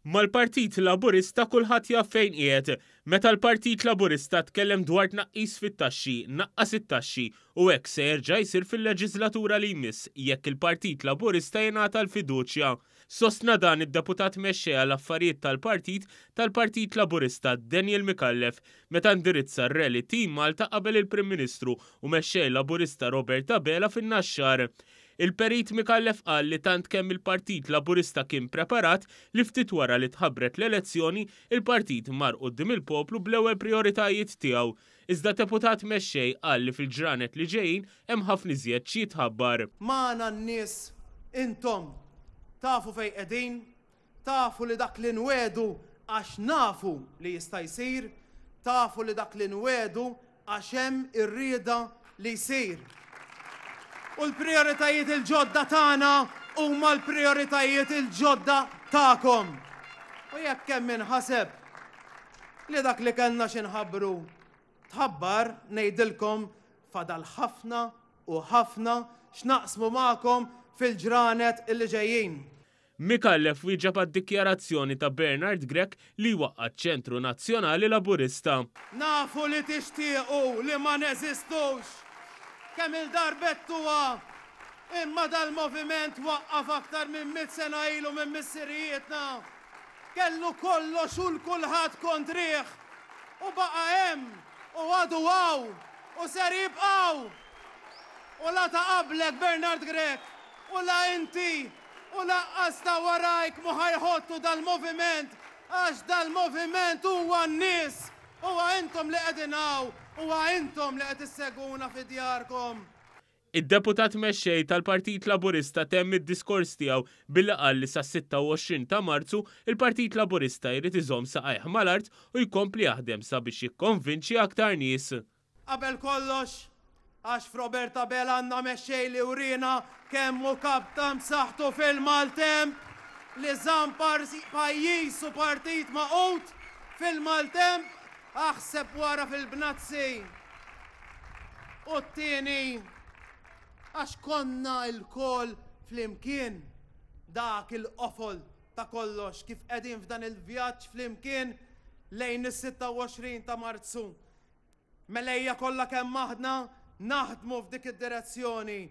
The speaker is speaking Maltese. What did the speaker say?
Mal-Partit Laburista kulħadd jaf fejn qiegħed. Meta l-Partit Laburista tkellem dwar tnaqqis fit-taxxi, naqqas it-taxxi u hekk se jerġa' jsir fil-leġiżlatura li jmiss jekk il-Partit Laburista jingħata l-fiduċja. Sostna dan id-Deputat Mexxej għall-Affarijiet tal-Partit tal-Partit Laburista Daniel Micallef meta indirizza r-rally Team Malta qabel il-Prim Ministru u Mexxej Laburista Robert Abela fin-Naxxar. Il-Perit Micallef qal li tant kemm il-Partit Laburista kien preparat li ftit wara li tħabbret l-elezzjoni, il-partit mar quddiem il-poplu bl-ewwel prijoritajiet tiegħu. Iżda Deputat Mexxej qal li fil-ġranet li ġejjin hemm ħafna iżjed x'jitħabbar. Magħna n-nies, intom, tafu fejn qegħdin, tafu li dak li nwiegħdu għax nafu li jista' jsir, tafu li dak li nwiegħdu Għax hemm ir-rieda li jsir. U l-prijoritajiet il-ġodda tagħna huma l-prijoritajiet il-ġodda tagħkom. U jekk hemm min ħaseb li dak li kellna xi nħabbru tħabbar, ngħidilkom fadal ħafna u ħafna x'naqsmu magħkom fil-ġranet illi ġejjin. Micallef wieġeb għad-dikjarazzjoni ta' Bernard Grech li jwaqqa' ċ-Ċentru Nazzjonali Laburista. Nafu li tixtiequ li ma neżistux. Kemm-il darba għedtuha, imma dal-moviment twaqqaf aktar minn mitt sena ilu minn missirijietna. Kellu kollox u l-kulħadd kontrih. U baqa' hemm u għadu hawn u ser jibqa' hawn. U la ta' qablek Bernard Grech u la inti U laqqas ta' warajk mhu ħa jħottu dal-moviment għax dal-moviment huwa n-nies, huwa intom li qegħdin hawn, huwa intom li qed issegwuna fi djarkom. Id-Deputat Mexxej tal-Partit Laburista temm id-diskors tiegħu billi qal li sas-26 ta' Marzu, il-Partit Laburista jrid iżomm saqajh mal-art u jkompli jaħdem sabiex jikkonvinċi aktar nies. Qabel kollox, għax f'Robert Abela għandna mexxej li wriena kemm hu kaptan b'saħħtu fil-maltemp, li żamm pajjiż u partit magħqud fil-maltemp, aħseb wara fil-bnazzi. U t-tieni, għax konna lkoll flimkien dak il-qofol ta' kollox kif qegħdin f'dan il-vjaġġ flimkien lejn is-26 ta' Marzu. Mela ejja kollha kemm aħna naħdmu f'dik id-direzzjoni.